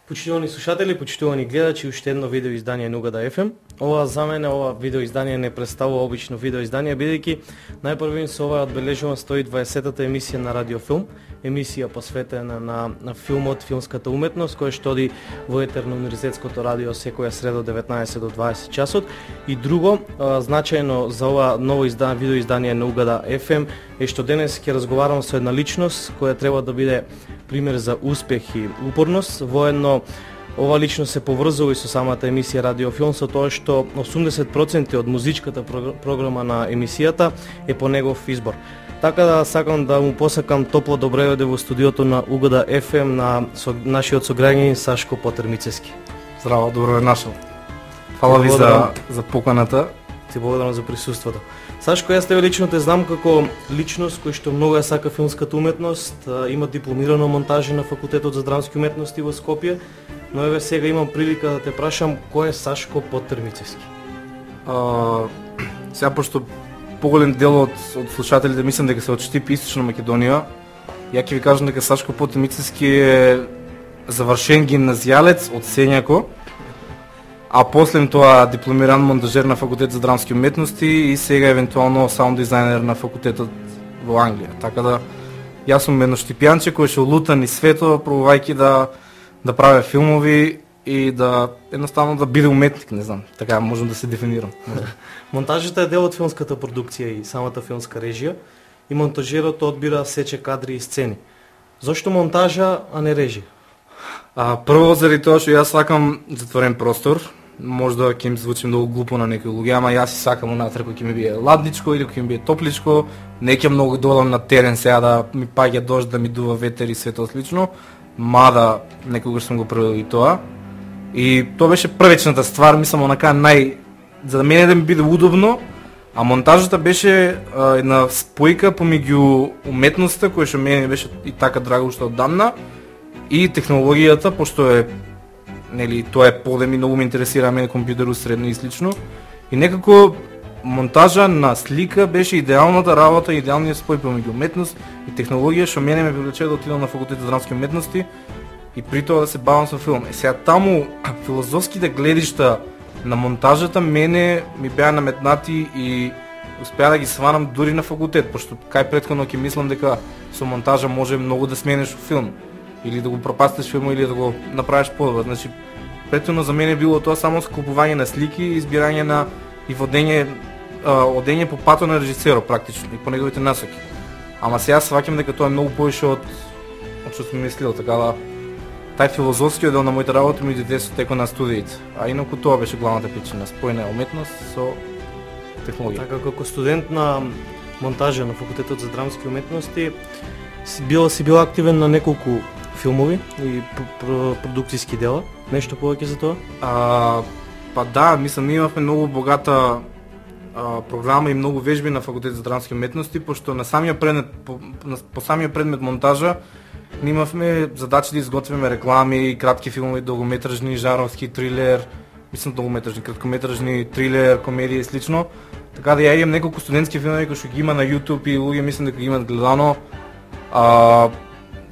Почитувани слушатели, почитувани гледачи, уште едно видео издание на Угада FM. За мене ова видео издание не представува обично видео издание, бидејќи најпрвин со ова одбележувам 120-та емисија на Радиофилм, емисија посветена на филмот, филмската уметност, која што оди во етер на Универзитетското радио секоја среда од 19 до 20 часот. И друго, значајно за ова ново видео издание на Угада FM е што денес ќе разговарам со една личност која треба да биде пример за успех и упорност. Воедно, ова лично се поврзува и со самата емисија Радиофилм, со тоа што 80% од музичката програма на емисијата е по негов избор. Така да сакам да му посакам топло добре дојде во студиото на Угада FM на нашиот сограѓанин Сашко Потермицевски. Здраво, добро е нашол. Фала ви за поканата. Ти благодарам за присуството. Сашко, јас тебе лично те знам како личност кој што многу ја сака филмската уметност, има дипломирано монтажи на Факултетот за драмски уметности во Скопје, но еве сега имам прилика да те прашам кој е Сашко Потермицевски. Сега пошто поголем дел од слушателите мислам дека се од Штип, Источна Македонија, ја ќе ви кажам дека Сашко Потермицевски е завршен гимназијалец од Сењако, а после тоа дипломиран монтажер на Факултет за драмски уметности и сега евентуално саунд дизајнер на факултетот во Англија. Така да јас сум едно штипјанче кој што лута низ светот пробувајќи да прави филмови и да едноставно да биде уметник, не знам, така можам да се дефинирам. Монтажата е дел од филмската продукција и самата филмска режија и монтажерот одбира сече кадри и сцени. Зошто монтажа, а не режија? Прво заради тоа што јас сакам затворен простор. Можда ќе ми звучи многу глупо на некои луѓе, ама јас си сакам унатре кој ќе ми биде ладничко или кој ќе ми биде топличко. Не ќе многу долам на терен сега да ми паѓа дожд, да ми дува ветер и свето слично, мада некогаш сум го правил и тоа. И тоа беше првичната ствар, мислам онака за да мене да ми биде удобно, а монтажата беше една спојка помеѓу уметноста која што мене беше и така драго уште оддамна и технологијата, пошто е тоа е полем и многу ме интересира мене компјутеру средно и слично. И некако монтажа на слика беше идеалната работа, идеалниот спој помеѓу уметност и технологија што мене ме привлече да отидам на Факултет за драмски уметности и при тоа да се бавам со филм. Сега таму филозофските гледишта на монтажата мене ми беа наметнати и успеа да ги сванам дури на факултет, пошто кај претходно ќе мислам дека со монтажа може многу да смениш филм или да го пропастиш филм или да го направиш подобро. Значи претходно за мене било тоа само скупување на слики, избирање на и одење по патот на режисерот практично и по неговите насоки. Ама сега сваќам дека тоа е многу повише од што сум мислил, така да тај филозофскиот дел на моите работи ми дојде со текот на студиите. А инаку тоа беше главната причина, спојна уметност со технологија. Така како студент на монтажа на Факултетот за драмски уметности си бил активен на неколку филмови и продукцијски дела. Нешто повеќе за тоа? Па да, мислам, ние имавме многу богата програма и многу вежби на Факултет за драмски уметности, пошто на самиот предмет по самиот предмет монтажа ние имавме задача да изготвиме реклами, кратки филмови, долгометражни, жанровски, трилер, мислам долгометражни, краткометражни, трилер, комедија и слично. Така да ја имам неколку студентски филмови кои што ги има на YouTube и луѓе мислам дека ги имат гледано.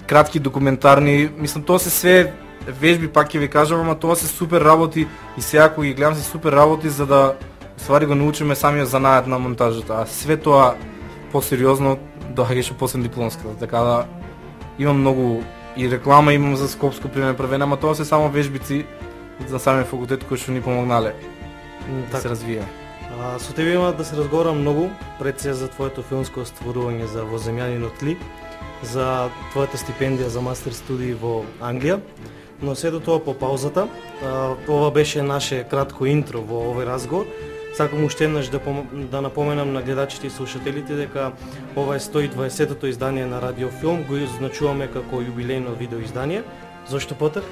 Кратки документарни, мислам тоа се све вежби, пак ќе ви кажам, ама тоа се супер работи и сега кога ги гледам се супер работи за да ствари го научиме самиот занаат на монтажата. А све тоа посериозно доаѓаше после дипломската, така да имам многу и реклама имам за Скопско пример правена, ама тоа се само вежбици за самиот факултет кои што ни помогнале да се развиеме. Со тебе има да се разговарам многу пред се за твоето филмско стварување за Во земјанинот ли, за твојата стипендија за мастер студии во Англија, но се до тоа по паузата. Ова беше наше кратко интро во овој разговор. Сакам уште еднаш да напоменам на гледачите и слушателите дека ова е 120-тото издание на Радиофилм, го означуваме како јубилејно видео издание. Зошто Потер?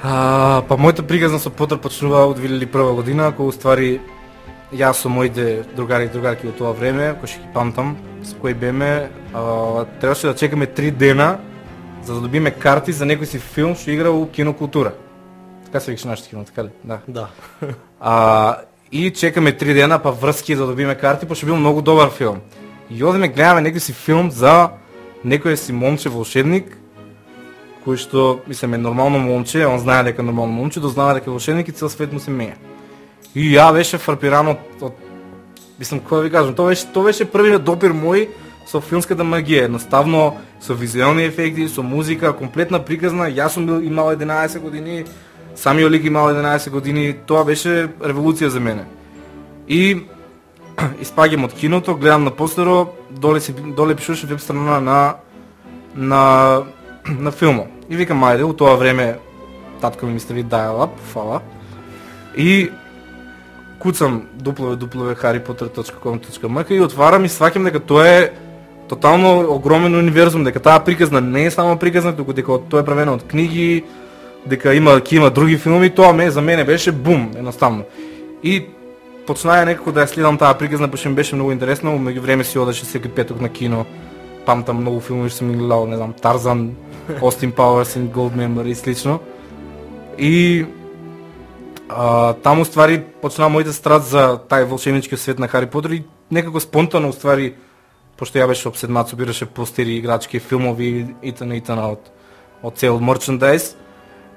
Па мојата пригазна со Потер почнува од 2001 година, кога уствари јас со моите другари и другарки од тоа време, кои ќе ги памтам, со кои беме, требаше да чекаме 3 дена за да добиме карти за некој си филм што игра во Кинокултура. Така се викаше нашите кино, така ли? Да. И чекаме 3 дена па врски за да добиме карти, пошто бил многу добар филм. И одиме гледаме некој си филм за некој си момче волшебник кој што мислам е нормално момче, он знае дека е нормално момче, дознава дека е волшебник и цел свет му се меја. И ја беше фрапиран од мислам како да ви кажам, тоа беше првиот допир мој со филмската магија, едноставно со визуелни ефекти, со музика, комплетна приказна. Јас сум имал 11 години, самиот лик имал 11 години, тоа беше револуција за мене. И испаѓам од киното, гледам на постеро, доле пишуваше веб страна на филмот. И викам, ајде, у тоа време татко ми стави dial-up, фала. И куцам www.harrypotter.com.mk и отварам и сваќам дека тоа е тотално огромен универзум, дека таа приказна не е само приказна, туку дека тоа е правено од книги, дека има други филми, тоа за мене беше бум, едноставно. И почнаа некако да ја следам таа приказна, пошто ми беше многу интересно, меѓу време си одеше секој петок на кино. Памтам многу филми што сум гледал, не знам, Тарзан, Austin Powers и Goldmember и слично. И таму ствари почнаа моите страст за тај волшебнички свет на Хари Потер и некако спонтано ствари, пошто ја беше обседнат, собираше постери, играчки, филмови и т.н. од цел мерчендайз.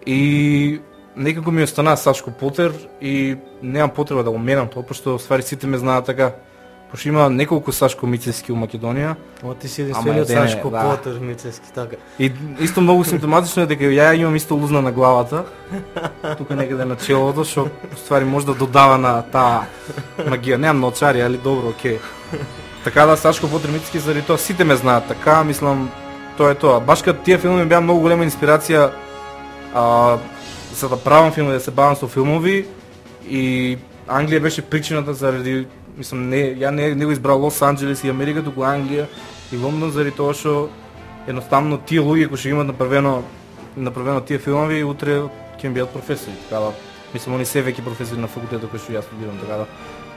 И некако ми остана Сашко Потер и немам потреба да го менам тоа, пошто ствари сите ме знаат така. Пошто има неколку Сашко Мицевски у Македонија. Ама ти си единствениот Сашко Потер Мицевски, така. И исто многу симптоматично е дека ја имам исто лузна на главата, тука некаде на челото, што ствари може да додава на таа магија. Немам ноочари, али добро, окей. Така да Сашко Потер Мицевски заради тоа сите ме знаат, така мислам тоа е тоа. Баш кога тие филми беа многу голема инспирација за да правам филми, да се бавам со филмови и Англија беше причината заради мислам ја не го избрал Лос Анџелес и Америка, туку Англија и Лондон заради тоа што едноставно тие луѓе кои што имаат направено тие филмови утре ќе им бидат професори, така да мислам они се веќе професори на факултетот кој што јас студирам, така да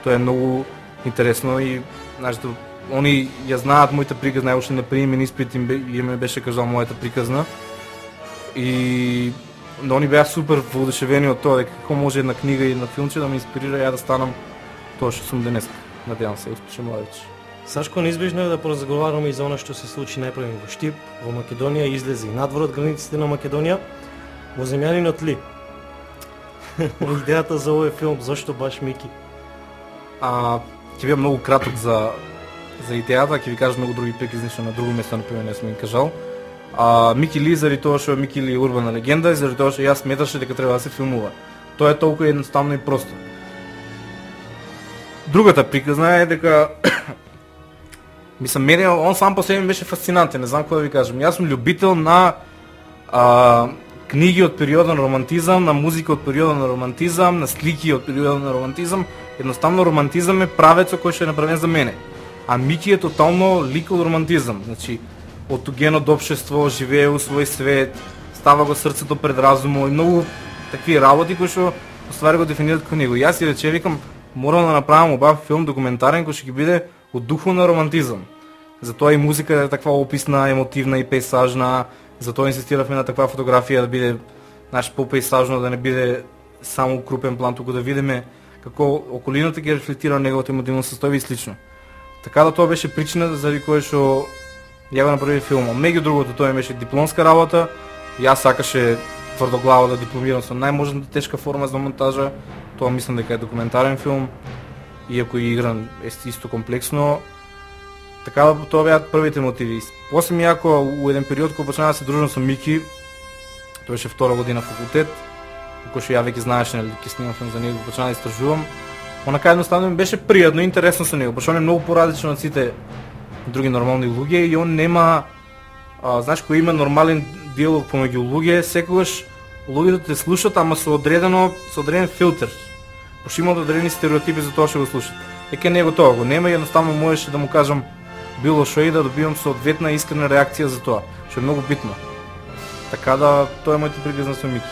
тоа е многу интересно и знаете они ја знаат мојата приказна, ја уште на приемен испит им ме беше кажал мојата приказна и они беа супер воодушевени од тоа дека како може една книга и една филмче да ме инспирира ја да станам тоа што сум денес. Надевам се, успешен младеж. Сашко, неизбежно е да поразговараме и за она што се случи најпрво во Штип, во Македонија и излезе и надвор од границите на Македонија, во земјанинот ли? Идејата за овој филм, зошто баш Мики? Ќе биде многу краток за идејата, ќе ви кажам многу други приказни што на друго место например не сум ги кажал. Мики Ли заради тоа што Мики Ли е урбана легенда и заради тоа што јас сметаше дека треба да се филмува. Тоа е толку едноставно и просто. Другата приказна е дека мислам мене он сам по себе беше фасцинантен, не знам како да ви кажам. Јас сум љубител на книги од периодот на романтизам, на музика од периодот на романтизам, на слики од периодот на романтизам. Едноставно романтизам е правецот кој што е направен за мене. А Мики е тотално лик од романтизам. Значи од тугено општество, живее во свој свет, става го срцето пред разумот и многу такви работи кои што ствари го дефинираат како него. Јас си рече викам морам да направам убав филм документарен кој ќе биде од духот на романтизам. Затоа и музика е таква описна, емотивна и пейсажна, затоа инсистиравме на таква фотографија да биде попейсажно, да не биде само крупен план, туку да видиме како околината ќе рефлектира неговото емотивно состојбе и слично. Така да тоа беше причината заради која што ја го направи филмот. Меѓу другото тоа беше дипломска работа. Јас сакаше тврдоглаво да дипломирам со најможната тешка форма за монтажа. Тоа мислам дека е документарен филм, иако и игран исто комплексно. Така да тоа беа првите мотиви. После мијако у еден период кога почнаа да се дружам со Мики, тоа беше втора година факултет, кој што ја веќе знаеше нели ќе снимам филм за него, почнаа да истражувам. Онака едноставно ми беше пријатно и интересно со него, пошто он е многу поразличен од сите други нормални луѓе и он нема знаеш кој има нормален диалог помеѓу луѓе, секогаш луѓето те слушаат, ама со одреден филтер. Пошто има одредени стереотипи за тоа што го слушаат. Дека него тоа го нема и едноставно можеше да му кажам било што и да добивам соодветна искрена реакција за тоа, што е многу битно. Така да тоа е мојата приказна со Мики.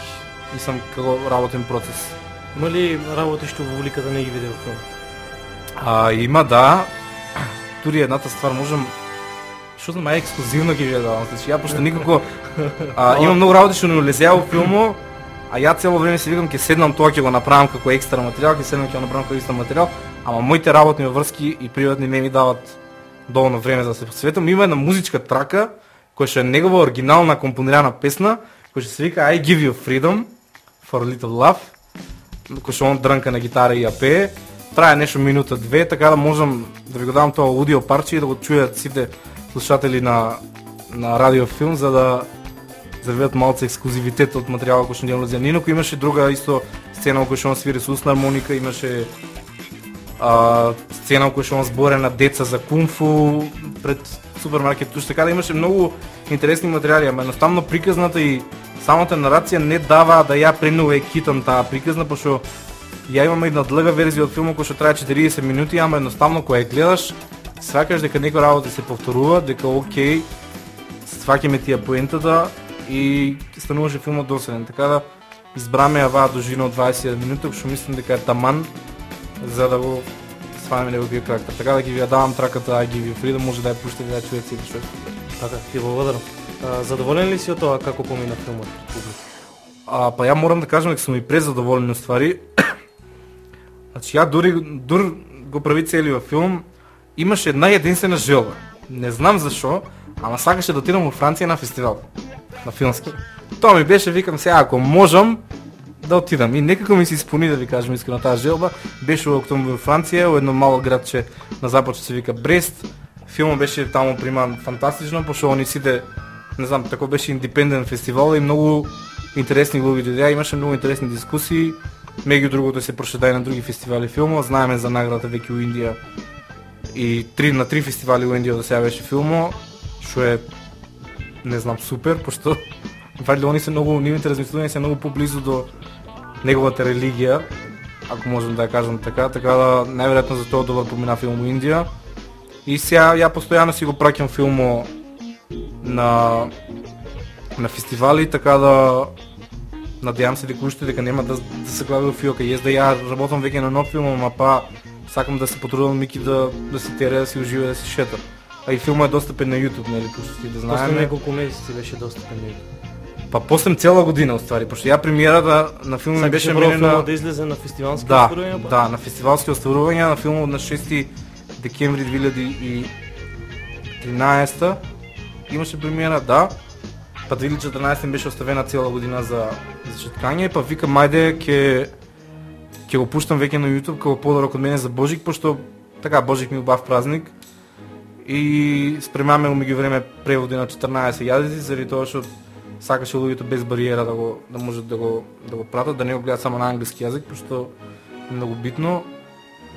Мислам како работен процес. Има ли работи што во уликата не ги виде во филм? Има да. Тури едната ствар можам што знам ексклузивно ги видам, значи ја пошто никако има многу работи што не улезеа во филмот, а ја цело време си викам ќе седнам тоа ќе го направам како екстра материјал, ќе седнам ќе го направам како екстра материјал, ама моите работни врски и приватни не ми дават доволно време за да се посветам. Има една музичка трака која што е негова оригинална компонирана песна, кој што се вика I give you freedom for a little love, кој што он дрнка на гитара и ја пее, трае нешто минута две, така да можам да ви го дам тоа аудио парче и да го чујат сите слушатели на радиофилм, за да видат малце ексклузивитет од материјалот кој што не влезе. Нино, кој имаше друга исто сцена кој што он свири со усна хармоника, имаше сцена кој што он зборе на деца за кунфу пред супермаркет, така да имаше многу интересни материјали, ама едноставно приказната и самата нарација не дава да ја премногу китам таа приказна, пошто ја имам една длга верзија од филмот кој што трае 40 минути, ама едноставно кога ја гледаш, сваќаш дека некои работи се повторува, дека окей, сваќаме тие поентата и стануваше филмот доседен. Така да избраме оваа дужина од 20 минути, што мислам дека е таман за да го сванеме неговиот карактер. Така да ги ја давам траката I give you freedom, може да ја пуштите да ја чуете сите што. Така, ти благодарам. Задоволен ли си од тоа како помина филмот публика? Па ја морам да кажам дека сум и презадоволен од ствари. Значи ја дури го прави целиот филм, имаше една единствена желба. Не знам зашо, ама сакаше да отидам во Франција на фестивал, на филмски. Тоа ми беше, викам се, ако можам да отидам. И некако ми се исполни, да ви кажам искрено, таа желба. Беше во октомври во Франција, во едно мало градче на запад што се вика Брест. Филмот беше таму приман фантастично, пошто они сите, не знам, тако беше индепендент фестивал и многу интересни луѓе дојдеа, имаше многу интересни дискусии. Меѓу другото се прошеда и на други фестивали филмот, знаеме за наградата веќе у Индија и на три фестивали у Индија да сега беше филмот, што е, не знам, супер, пошто вајде они се многу, нивните размислувања се многу поблизу до неговата религија, ако можам да ја кажам така да најверојатно за тоа добар помина филм у Индија. И сега ја постојано си го праќам филмот на фестивали, така да надевам се дека уште дека нема да се глави во фиока. Јас да ја работам веќе на нов филм, ама па сакам да се потрудам Мики да си тере, да си ужива, да си шета. А и филмот е достапен на YouTube, нели, пошто ти да знаеме. После неколку месеци беше достапен на YouTube. Па после цела година уствари, пошто ја премиерата на филмот беше мене да излезе на фестивалски остварувања. Да, на фестивалски остварувања на филмот на 6 декември 2013 имаше премиера, да. Па 2014 беше оставена цела година за читкање, па викам ајде ќе го пуштам веќе на YouTube како подарок од мене за Божик, пошто така Божик ми убав празник. И спремаме у меѓувреме преводи на 14 јазици, заради тоа што сакаше луѓето без бариера да можат да го пратат, да не го гледат само на англиски јазик, пошто е многу битно.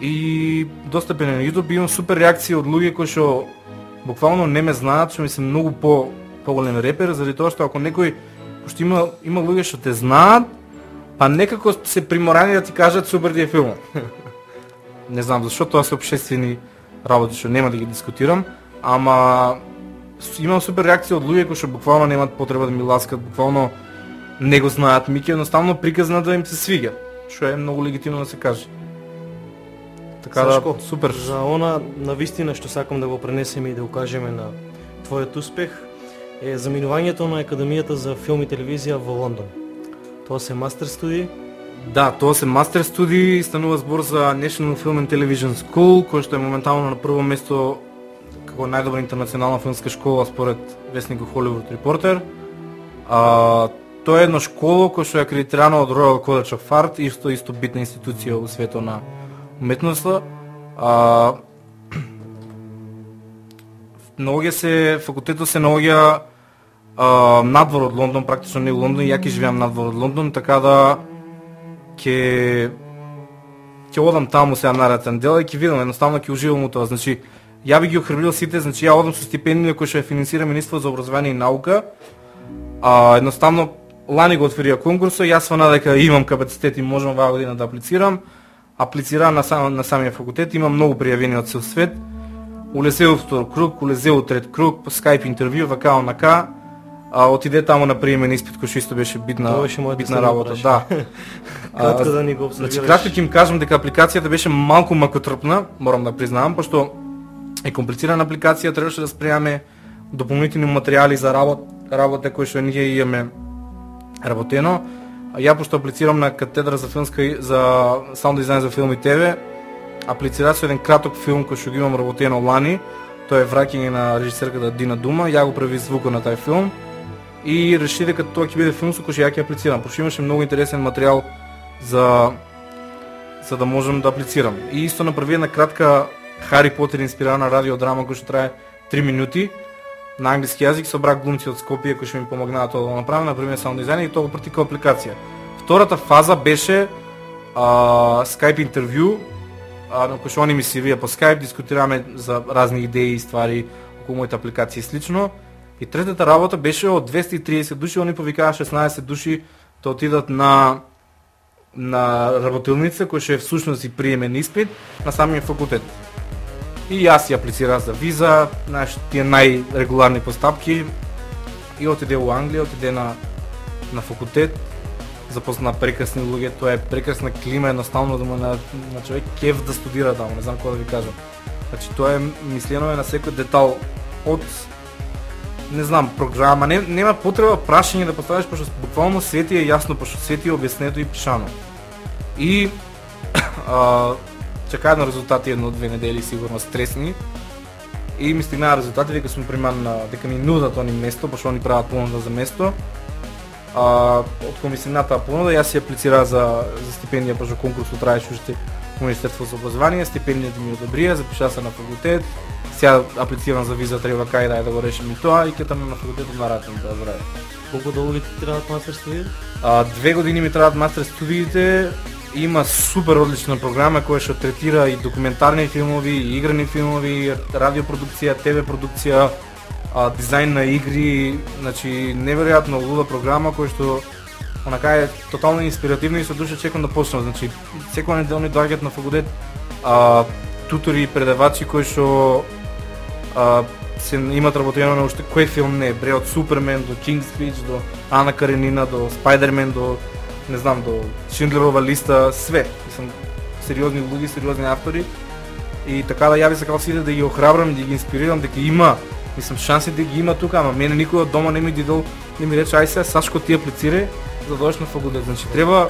И достапен на YouTube, имам супер реакции од луѓе кои што буквално не ме знаат, што ми се многу поголем репер, заради тоа што ако некој, пошто има луѓе што те знаат, па некако се приморани да ти кажат супер ти е филмот. Не знам зашто, тоа се општествени работи што нема да ги дискутирам, ама имам супер реакција од луѓе кои што буквално немаат потреба да ми ласкат, буквално не го знаат Мики, едноставно приказна да им се свиѓа, што е многу легитимно да се каже. Така Сашко, да, супер. За она навистина што сакам да го пренесеме и да укажеме на твојот успех е заминувањето на Академијата за филм и телевизија во Лондон. Тоа се мастер студии? Да, тоа се мастер студии, станува збор за National Film and Television School, кој што е моментално на прво место како најдобра интернационална филмска школа според весникот Hollywood Reporter. Тоа е една школа која што е акредитирана од Royal College of Art, исто битна институција во светот на уметноста. Факултетот се наоѓа надвор од Лондон, практично не во Лондон, ја ќе живеам надвор од Лондон, така да ќе одам таму сега нареден дел и ќе видам, едноставно ќе уживам у тоа. Значи, ја би ги охрабрил сите, значи ја одам со стипендија која што ја финансира Министерството за образование и наука. Едноставно лани го отворија конкурсот, јас свана дека имам капацитет и можам оваа година да аплицирам. Аплицирам на самиот факултет, имам многу пријавени од цел свет. Улезео втор круг, улезео трет круг, по скайп интервју, вака онака. Отиде таму на приемен испит кој што исто беше битна работа, да. Кратко да ни го обсервираш. Значи кратко ќе им кажам дека апликацијата беше малку макотрпна, морам да признавам, пошто е комплицирана апликација, требаше да спремаме дополнителни материјали за работа кои што ние имаме работено. Ја пошто аплицирам на катедра за саунд дизајн за филм и ТВ, аплицирав со еден краток филм кој што го имам работено лани. Тоа е враќање на режисерката Дина Дума, ја го прави звукот на тај филм. и реши дека тоа ќе биде филм со кој што ја ќе аплицирам, пошто имаше многу интересен материјал за да можам да аплицирам. И исто направи една кратка Хари Потер инспирирана радиодрама која што трае 3 минути на англиски јазик, собрах глумци од Скопје кои што ми помогнаа тоа да го направам, например саунд дизајн и тоа го прати како апликација. Втората фаза беше Skype интервју, на кој што они ми се вија по Skype, дискутираме за разни идеи и ствари околу мојата апликација и слично. И третата работа беше од 230 души, они повикаа 16 души да отидат на работилница кој што е всушност и приемен испит на самиот факултет. И јас ја аплицирав за виза, знаеш, тие најрегуларни постапки и отиде во Англија, отиде на факултет, запозна прекрасни луѓе, тоа е прекрасна клима, едноставно да му на човек кеф да студира таму, не знам како да ви кажам. Значи тоа е мислено на секој детал од не знам, програма, нема потреба прашање да поставиш, пошто буквално све ти е јасно, пошто све ти е објаснето и пишано. И чекаат на резултати 1-2 недели сигурно стресни. И ми стигнаа резултати дека сум приман дека ми нудат они место, пошто они прават понуда за место. Од комисионата понуда јас си аплицираа за стипендија, пошто конкурсот траеше уште во Министерството за образование, стипендијата ми одобрија, запишаа се на факултет. Сега аплицирам за виза, треба кај да го решим и тоа и ќе таму на факултетот на Ратен да здраве. Колку долго ти требаат мастер студиите? 2 години ми требаат мастер студиите. Има супер одлична програма која што третира и документарни филмови, и играни филмови, радиопродукција, ТВ продукција, дизајн на игри, значи неверојатно луда програма која што онака е тотално инспиративна и со душа чекам да почнам. Значи секоја неделя ни доаѓаат на факултет тутори и предавачи кои што се имат работено на уште кој филм не е, од Супермен до King's Speech, до Ана Каренина, до Спайдермен, до не знам, до Шиндлерова листа, све. Мислам, сериозни луѓе, сериозни автори. И така да јави сакал сите да ги охрабрам, да ги инспирирам, дека има, мислам, шанси да ги има тука, ама мене никој од дома не ми дидол, не ми рече, ај сега Сашко ти аплицирај за да дојдеш на факултет. Значи треба,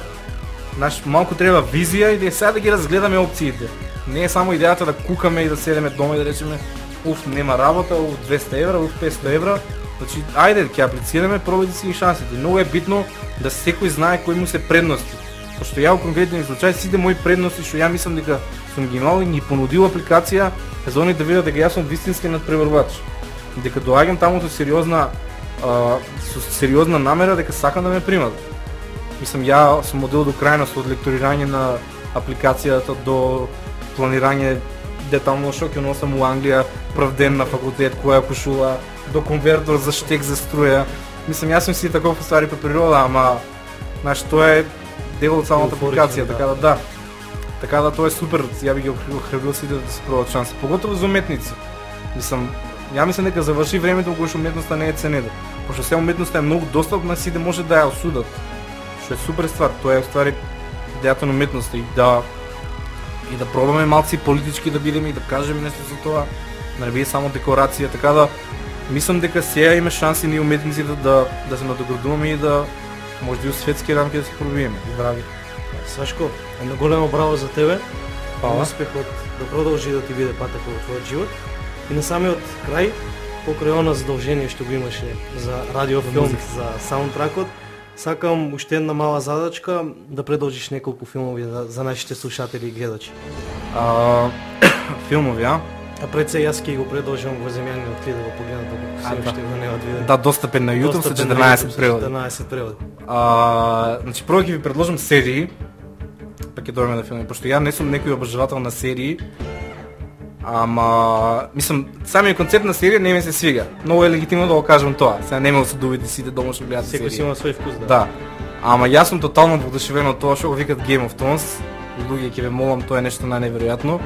малку треба визија и да сега да ги разгледаме опциите. Не е само идејата да кукаме и да седеме дома и да речеме уф, нема работа, уф 200 евра, уф 500 евра. Значи, ајде, ќе аплицираме, пробајте си ги шансите. Многу е битно да секој знае кои му се предности. Пошто ја во конкретен случај сите мои предности што ја мислам дека сум ги имал и ги понудил апликација за они да видат дека јас сум вистински надпреварувач. Дека доаѓам таму со сериозна намера дека сакам да ме примат. Мислам, ја сум одел до крајност од лекторирање на апликацијата до планирање детално што ќе носам у Англија прв ден на факултет, која кошула, до конвертор за штек за струја. Мислам, јас сум си таков ствари по природа, ама знаеш, тоа е дел од самата апликација, така да. Така да тоа е супер, ја би ги охрабрил сите да се пробат шанси, поготово за уметници. Мислам, ја мислам дека заврши времето кога што уметноста не е ценета. Пошто сега уметноста е многу достапна, сите може да ја осудат. Што е супер ствар, тоа е ствари идејата на уметноста и да пробаме малци политички да бидеме и да кажеме нешто за тоа, да не биде само декорација, така да мислам дека сега има шанси ние уметниците да се надоградуваме и да може би у светски рамки да се пробиеме. Здрави. Сашко, едно големо браво за тебе. Фала. Успехот да продолжи да ти биде патек во твојот живот. И на самиот крај, покрај она задолжение што го имаше за радиофилм, за саундтракот, сакам уште една мала задачка да продолжиш неколку филмови за нашите слушатели и гледачи. Филмови, а? А пред се јас ќе го продолжам во земјаниот клид да го погледам доколку се уште го немат видено. Да, достапен на YouTube со 14 преводи. 14 преводи. Значи прво ќе ви предложам серии, па ќе дојдеме на филми, пошто ја не сум некој обожавател на серии. Ама, мислам, самиот концепт на серија не ми се свига. Многу е легитимно да го кажам тоа. Сега нема да се доведе сите дома што гледаат серии. Секој си има свој вкус, да. Да. Ама јас сум тотално воодушевен од тоа што го викат Game of Thrones. Луѓе ќе ве молам, тоа е нешто најневеројатно.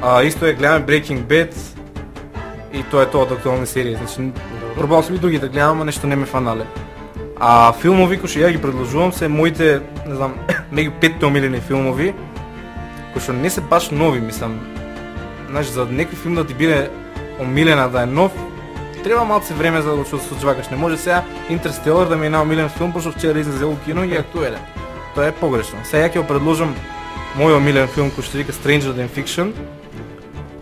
Исто е гледаме Breaking Bad и тоа е тоа од актуални серии. Значи, пробал сум и други да гледам, ама нешто не ме фанале. Филмови кои што ја ги предложувам се моите, не знам, меѓу 5 омилени филмови, кои што не се баш нови, мислам. Знаеш, за некој филм да ти биде омилена да е нов, треба малце време за да го соочвакаш. Не може сега Интерстелар да ми е најомилен филм, пошто вчера излезе во кино и е актуелен. Тоа е погрешно. Сега ќе го предложам мој омилен филм кој што вика Stranger Than Fiction.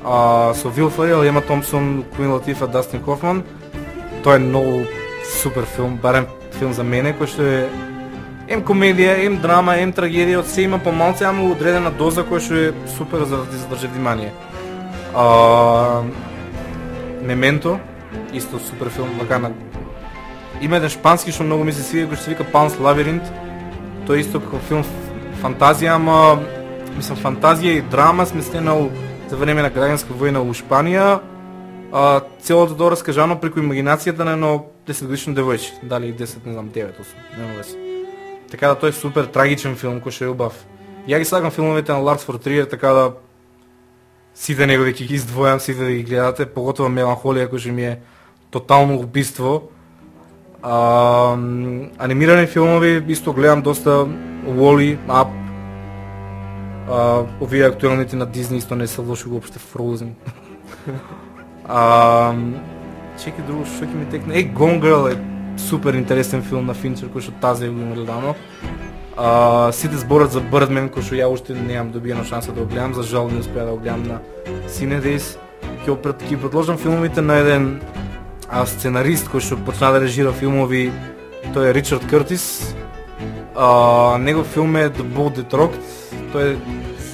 Со Вил Ферел, Ема Томпсон, Куин Латифа, Дастин Хофман. Тоа е многу супер филм, барем филм за мене, кој што е комедија, драма, трагедија, од се има помалце, ама одредена доза која што е супер за да ти задржи внимание. Мементо, исто супер филм, вака има еден шпански што многу ми се свија, кој што се вика Панс Лабиринт. Тој исто како филм фантазија, ама мислам фантазија и драма сместена за време на граѓанска војна во Шпанија. Целото тоа раскажано преку имагинацијата на едно 10-годишно девојче, дали 10, не знам, 9, 8, нема веќе. Така да тој е супер трагичен филм кој што е убав. Ја ги сакам филмовите на Ларс фон Триер, така да сите негови ќе ги издвојам, сите да ги гледате, поготово Меланхолија кој што ми е тотално убиство. Анимирани филмови исто гледам доста, Wall-E, Up. Овие актуелните на Дизни исто не се лоши уопште, Frozen. Чекај друго што ќе ми текне. Gone Girl е супер интересен филм на Финчер кој што тази го има гледано. Сите зборат за Birdman кој што ја уште немам добиено шанса да го гледам, за жал не успеа да го гледам на Cinedays. Ќе предложам филмовите на еден сценарист кој што почна да режира филмови, тој е Ричард Къртис. Негов филм е The Boat That Rocked, тој е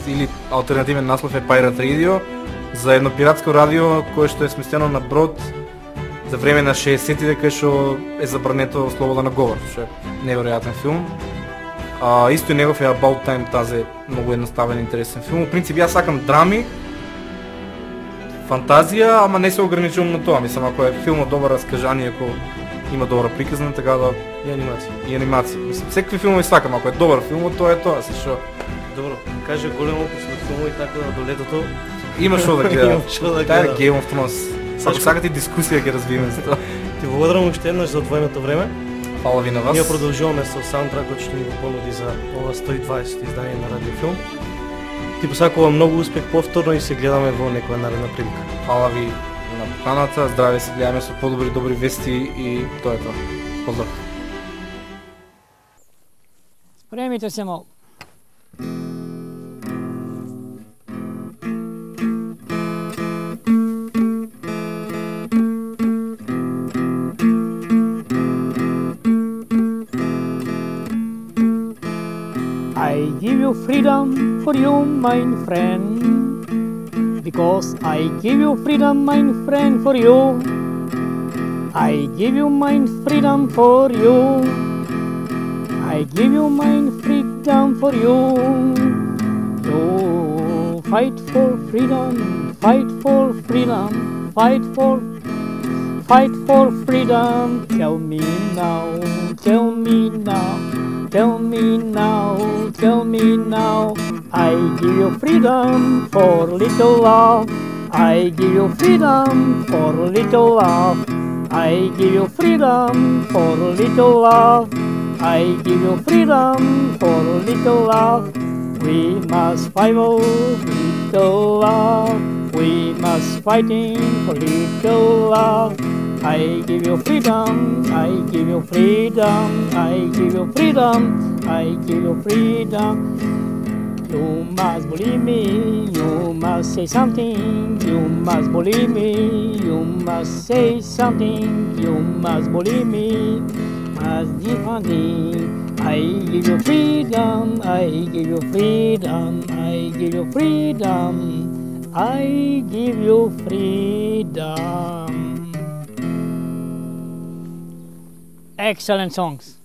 или алтернативен наслов е Pirate Radio, за едно пиратско радио кое што е сместено на брод за време на 60-тите кај што е забрането слобода на говор, што е неверојатен филм. Исто и негов е About Time, тази многу едноставен интересен филм. Во принцип јас сакам драми, фантазија, ама не се ограничувам на тоа. Мислам, ако е филмот добро раскажание, ако има добра приказна, така да и анимација. Мислам, секакви филмови сакам, ако е добар филмот, тоа е тоа, се што. Добро, каже голем опус на филмови, така да до летото има што да гледам. Таа е Game of Thrones. Ако сакате дискусија ќе развиеме за тоа. Ти благодарам уште еднаш за одвоеното време. Фала ви на вас. Ние продолжуваме со саундтракот што ни го понуди за ова 120 издание на Радиофилм. Ти посакувам многу успех повторно и се гледаме во некоја наредна прилика. Фала ви на поканата, здраве, се гледаме со подобри добри вести и тоа е тоа. Поздрав. Спремите се малку. I give you freedom for you, my friend, because I give you freedom, my friend, for you. I give you my freedom for you. I give you my freedom for you. You fight for freedom, fight for freedom, fight for freedom. Tell me now, tell me now. Tell me now, tell me now. I give you freedom for little love. I give you freedom for little love. I give you freedom for little love. I give you freedom for little love. We must fight for little love. We must fighting for little love. I give you freedom, I give you freedom, I give you freedom, I give you freedom. You must believe me, you must say something, you must believe me, you must say something, you must believe me, must defend me. I give you freedom, I give you freedom, I give you freedom, I give you freedom. Excellent songs.